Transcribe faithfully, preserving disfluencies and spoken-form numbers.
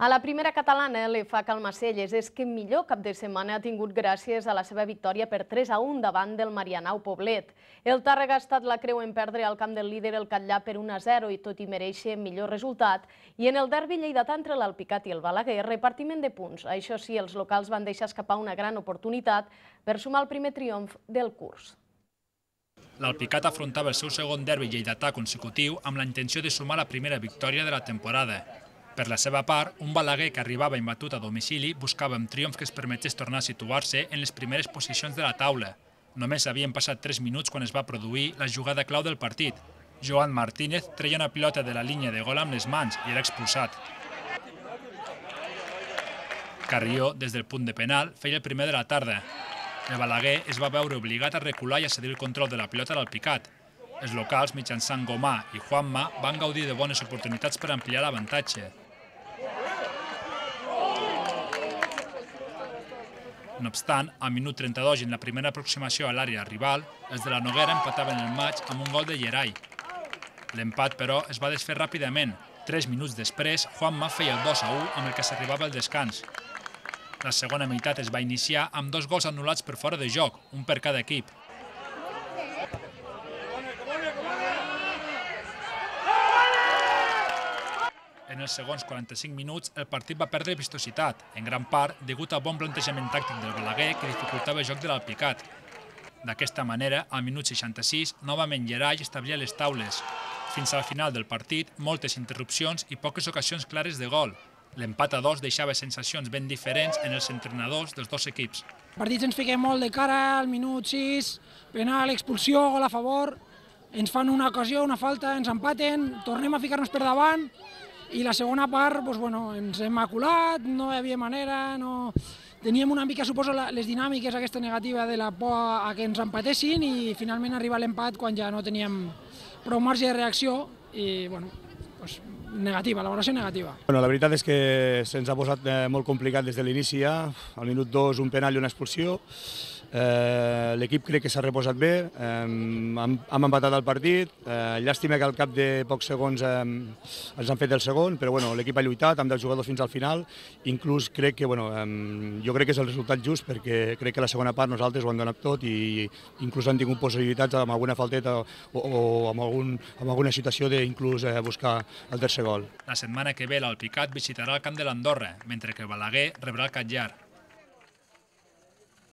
A la primera catalana, l'F A Calmacelles és que millor cap de setmana ha tingut gràcies a la seva victòria per tres a un davant del Marianao Poblet. El Tàrrega ha estat la creu en perdre al camp del líder el Catllà per un a zero i tot i mereixer millor resultat. I en el derbi lleidatà entre l'Alpicat i el Balaguer, repartiment de punts. Això sí, els locals van deixar escapar una gran oportunitat per sumar el primer triomf del curs. L'Alpicat afrontava el seu segon derbi lleidatà consecutiu amb la intenció de sumar la primera victòria de la temporada. Per la seva part, un Balaguer que arribava imbatut a domicili buscava un triomf que es permetés tornar a situar-se en les primeres posicions de la taula. Només havien passat tres minuts quan es va produir la jugada clau del partit. Joan Martínez treia una pilota de la línia de gol amb les mans i era expulsat. Carrió, des del punt de penal, feia el primer de la tarda. El Balaguer es va veure obligat a recular i a cedir el control de la pilota a l'Alpicat. Els locals, mitjançant Gomà i Juanma, van gaudir de bones oportunitats per ampliar l'avantatge. No obstant, al minut trenta-dos i en la primera aproximació a l'àrea rival, els de la Noguera empataven el maig amb un gol de Llerai. L'empat, però, es va desfer ràpidament. Tres minuts després, Juanma feia el dos a u amb el que s'arribava al descans. La segona meitat es va iniciar amb dos gols anul·lats per fora de joc, un per cada equip. En els segons quaranta-cinc minuts, el partit va perdre vistositat, en gran part degut al bon plantejament tàctic del Balaguer que dificultava el joc de l'Alpicat. D'aquesta manera, al minut seixanta-sis, novament Llerai establia les taules. Fins al final del partit, moltes interrupcions i poques ocasions clares de gol. L'empat a dos deixava sensacions ben diferents en els entrenadors dels dos equips. El partit ens fiquem molt de cara al minut sis, penal, expulsió, gol a favor, ens fan una ocasió, una falta, ens empaten, tornem a ficar-nos per davant i la segona part doncs, bueno, ens hem maculat, no hi havia manera, no... teníem una mica, suposo, les dinàmiques aquesta negativa de la por a que ens empatessin i finalment arriba l'empat quan ja no teníem prou marge de reacció i bueno, doncs, negativa, valoració negativa. Bueno, la veritat és que se'ns ha posat molt complicat des de l'inici ja, al minut dos un penal i una expulsió. Eh, L'equip crec que s'ha reposat bé, eh, hem, hem empatat el partit, eh, llàstima que al cap de pocs segons eh, ens han fet el segon, però bueno, l'equip ha lluitat, amb deu jugadors fins al final, inclús crec que, bueno, eh, jo crec que és el resultat just perquè crec que la segona part nosaltres ho hem donat tot i inclús han tingut possibilitats amb alguna falteta o, o amb, algun, amb alguna situació d'inclús eh, buscar el tercer gol. La setmana que ve l'Alpicat visitarà el camp de l'Andorra, mentre que el Balaguer rebrà el Catllar.